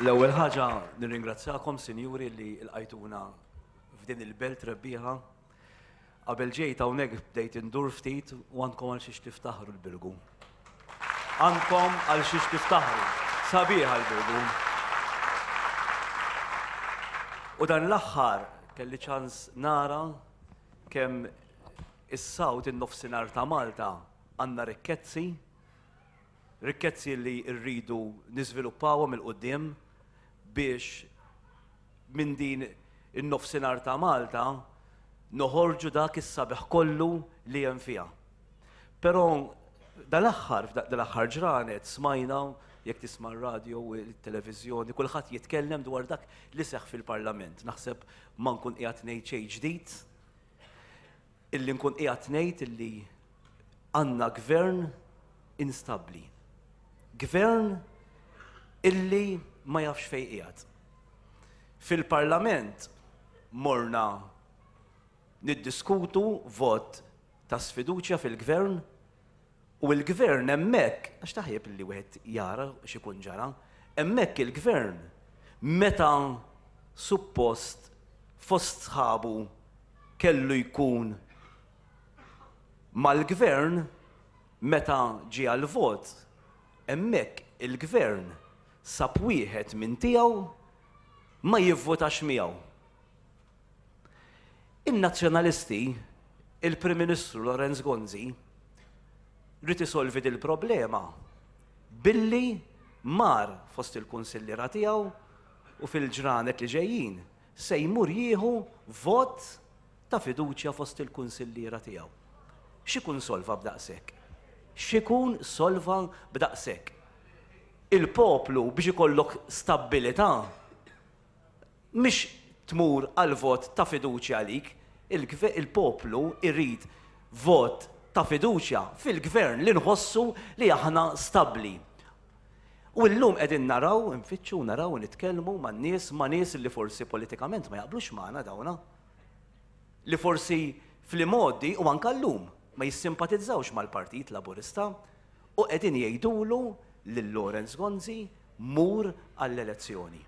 L-ewwel ħaġa nirringrazzjakom, sinjuri, li lqajtuna f'din il-belt rebbieħa. Qabel ġejt hawnhekk bdejt indur ftit u għandkom għal xiex tiftaħru l-Birgu. Għandkom għal xiex tiftaħru. Sabiħa l-Birgu. U dan l-aħħar kelli ċans nara kemm is-South in-nofsinhar ta' Malta għandna rikkezzi, rikkezzi li rridu niżviluppawhom 'il quddiem biex minn din in-nofsinhar ta' Malta noħorġu dak is-sabiħ kollu li hemm fiha. Però dal-aħħar, dal-aħħar ġranet smajna, jekk tisma' r-radio u t-televiżjoni, kulħadd jitkellem dwar dak li seħħ fil-Parlament. Naħseb ma nkun qiegħed ngħid xejn ġdid illi nkun qiegħed ngħid illi għandna gvern instabbli. Gvern illi ma jafx fejn qiegħed. Fil-Parlament morna niddiskutu vot ta' sfiduċja fil-gvern u l-gvern hemmhekk, għax taħjeb li wieħed jara x'ikun ġara, hemmhekk il-gvern meta suppost fost sħabu kellu jkun mal-gvern meta ġie għall-vot, hemmhekk il-gvern sab wieħed minn tiegħu ma jivvutax miegħu. In-Nazzjonalisti, il-Prim Ministru Lawrence Gonzi, ried isolvi dil-problema billi mar fost il-kunsilliera tiegħu u fil-ġranet li ġejjin se jmur jieħu vot ta' fiduċja fost il-kunsilliera tiegħu. X'ikun solva b'daqshekk? X'ikun solva b'daqshekk? Il-poplu biex ikollok stabbilità mhix tmur għal vot ta' fiduċja għalik, il-poplu jrid vot ta' fiduċja fil-gvern li nħossu li aħna stabbli. U llum qegħdin naraw, infittxu, naraw u nitkellmu man-nies, ma' nies li forsi politikament ma jaqblux magħna dawna. Li forsi fl-imgħoddi u anke llum ma jissimpatizzawx mal-Partit Laburista u qegħdin jgħidulu lil Lawrence Gonzi mur għall-elezzjoni.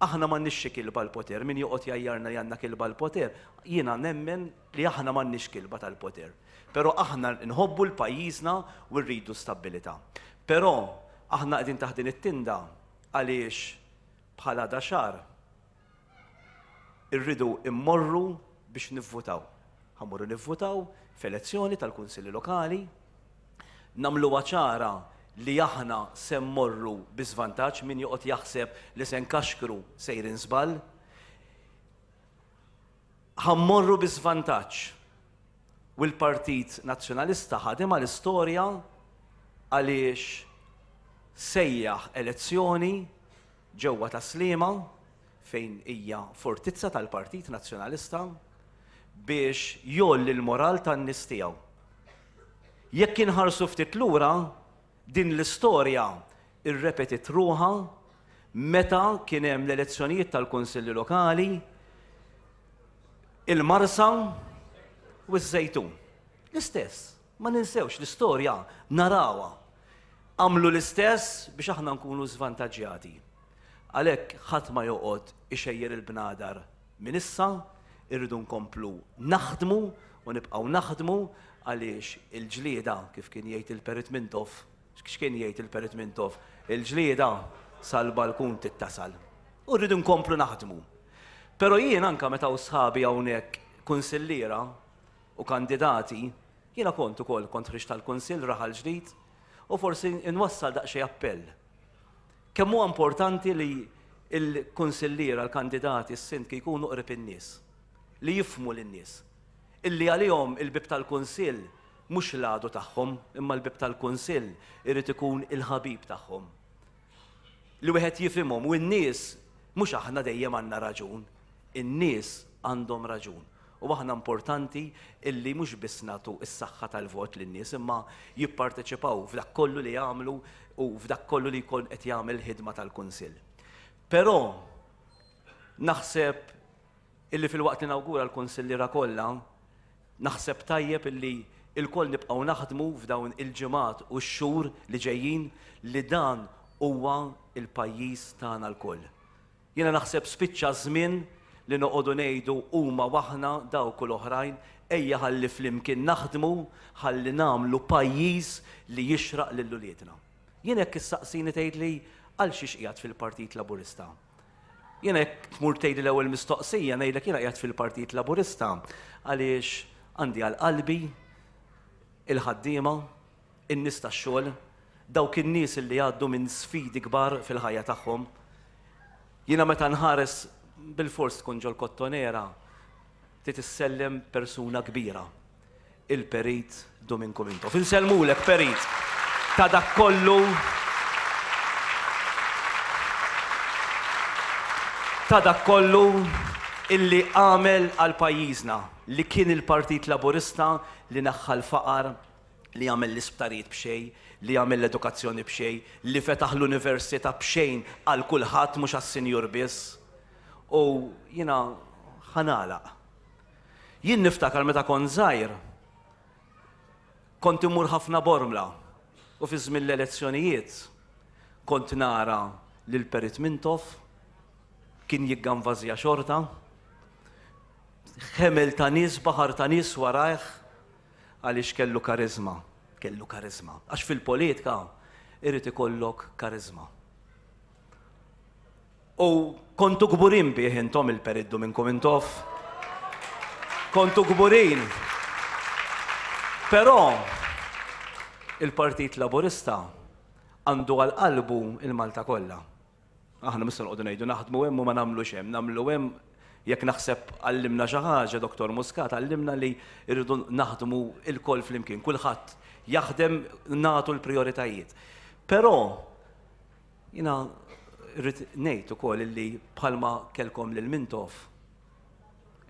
Aħna m'għandniex xi kilba l-poter, min joqgħod jgħajjarna li għandna kilba l-poter, jiena nemmen li aħna m'għandniex kilba tal-poter. Però aħna nħobbu l-pajjiżna u rridu stabbilità. Però aħna qegħdin taħt din it-tinda għaliex bħala daxar irridu immorru biex nivvutaw. Ħa mmorru nivvutaw f'elezzjoni tal-Kunsilli Lokali, nagħmluha ċara li aħna se mmorru bi żvantaġġ, min joqgħod jaħseb li se nkaxkru sejrin żball. Ħa mmorru bi żvantaġġ. U l-Partit Nazzjonalista ħadimha l-istorja għaliex sejjaħ elezzjoni ġewwa Tas-Sliema fejn hija fortizza tal-Partit Nazzjonalista biex jgħolli l-moral tan-nies tiegħu. Jekk inħarsu ftit lura, din l-istorja rrepetiet ruħha meta kien hemm l-elezzjonijiet tal-Kunsilli Lokali, il-Marsa u ż-Żejtun. L-istess, ma ninsewx l-istorja narawha. Għamlu l-istess biex aħna nkunu żvantaġġjati. Għalhekk ħadd ma joqgħod ixejjer il-bnadar minn issa, irridu nkomplu naħdmu u nibqgħu naħdmu għaliex il-ġlieda, kif kien jgħid il-Perit Mintoff, x'kien jgħid il-Perit Mintoff, il-ġlieda sal-balkun tittasal. U rridu nkomplu naħdmu. Però jien anke meta hawn sħabi hawnhekk kunsilliera u kandidati, jiena kont ukoll kont ħriġt tal-Kunsill Raħal Ġdid u forsi nwassal daqsxejn appell. Kemm huwa importanti li l-kunsilliera, l-kandidati, s-sindki jkunu qrib in-nies, li jifhmu lin-nies. Illi għalihom il-bieb tal-kunsill mhux l-għadu tagħhom, imma l-bieb tal-kunsill irid ikun il-ħabib tagħhom. Li wieħed jifhimhom u n-nies mhux aħna dejjem għandna raġun, in-nies għandhom raġun. U aħna importanti illi mhux biss nagħtu s-saħħa tal-vot lin-nies imma jipparteċipaw f'dak kollu li jagħmlu u f'dak kollu li jkun qed jagħmel il-ħidma tal-Kunsill. Però naħseb illi filwaqt li nawgura l-kunsilliera kollha, naħseb tajjeb illi lkoll nibqgħu naħdmu f'dawn il-ġimgħat u x-xhur li ġejjin li dan. Huwa l-pajjiż tagħna lkoll. Jiena naħseb spiċċa ż-żmien li noqogħdu ngħidu huma u aħna, dawk u l-oħrajn, ejja ħalli flimkien naħdmu ħalli nagħmlu pajjiż li jixraq lil uliedna. Jien jekk issaqsini tgħidli għal xiex qiegħed fil-Partit Laburista. Jiena jekk tmur tgħidli l-ewwel mistoqsija ngħidlek jiena qiegħed fil-Partit Laburista għaliex għandi għal qalbi il-ħaddiema, in-nies tax-xogħol, dawk in-nies li jgħaddu minn sfidi kbar fil-ħajja tagħhom. Jiena meta nħares bilfors tkun ġol-Kottonera trid issellem persuna kbira, il-Perit Duminku Mintoff. Insellmulek Perit ta' dak kollu ta' dak kollu illi għamel għal pajjiżna, li kien il-Partit Laburista li neħħa l-faqar, li għamel l-isptarijiet b'xejn, li għamel l-edukazzjoni b'xejn, li fetaħ l-università b'xejn għal kulħadd mhux għas-sinjur biss. U jiena ħa nagħlaq. Jien niftakar meta kont żgħir, kont immur ħafna Bormla u fi żmien l-elezzjonijiet kont nara lil Perit Mintoff kien jigganvażja xorta, ħemel ta' nies, baħar ta' nies warajh, Għaliex kellu kariżma. Kellu kariżma. Għax fil-politika irid ikollok kariżma. U kontu kburin bih intom il-periddu minn Mintoff. Kontu kburin. Però il-Partit Laburista għandu għal qalbu il-Malta kollha. Aħna mhux se noqogħdu ngħidu naħdmu hemm u ma nagħmlux hemm, nagħmlu hemm jekk naħseb għallimna xi ħaġa Dottor Muscat għallimna li rridu naħdmu lkoll flimkien, kulħadd jaħdem nagħtu l-prijoritajiet. Però jiena rrid ngħid ukoll illi bħalma kellkom lil Mintoff,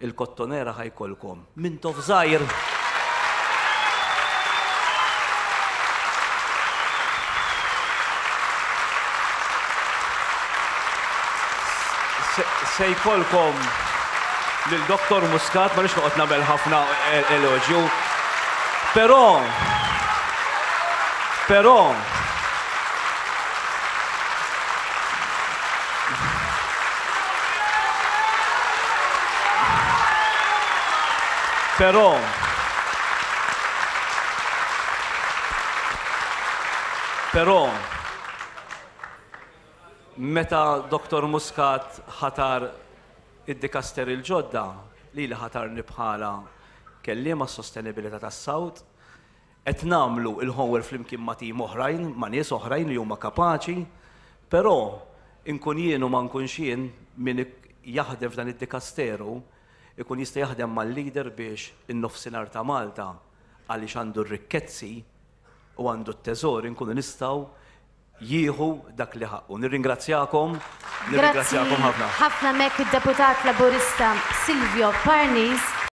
Il-Kottonera ħa jkollkom. Mintoff żgħir! Se jkollkom lil Dottor Muscat, ma rridx noqgħod nagħmel ħafna eloġju, però però Però Però meta Dottor Muscat ħatar id-dikasteri l-ġodda, lili ħatarni bħala kelliem għas-sostenibilità tas-South, Qed nagħmlu l-homework flimkien ma' tim oħrajn, ma' nies oħrajn li huma kapaċi, però inkun jien u ma nkunx jien, min jaħdem f'dan id-dikasteru ikun jista' jaħdem mal-leader biex in-Nofsinhar ta' Malta, għaliex għandu r-rikkezzi u għandu t-teżor, inkunu nistgħu jieħu dak li ħaqqu. Nirringrazzjakom, nirringrazzjakom ħafna. Grazzi ħafna mek id-Deputat Laburista Silvio Parnis.